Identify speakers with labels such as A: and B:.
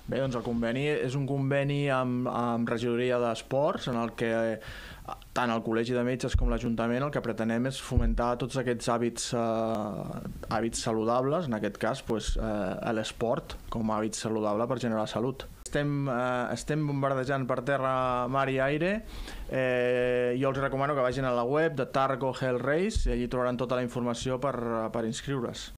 A: Bé, doncs el conveni és un conveni amb regidoria d'esports en el que tant el Col·legi de Metges com l'Ajuntament el que pretenem és fomentar tots aquests hàbits saludables, en aquest cas l'esport com a hàbit saludable per generar salut. Estem bombardejant per terra, mar i aire. Jo els recomano que vagin a la web de Targo Health Race i allí trobaran tota la informació per inscriure's.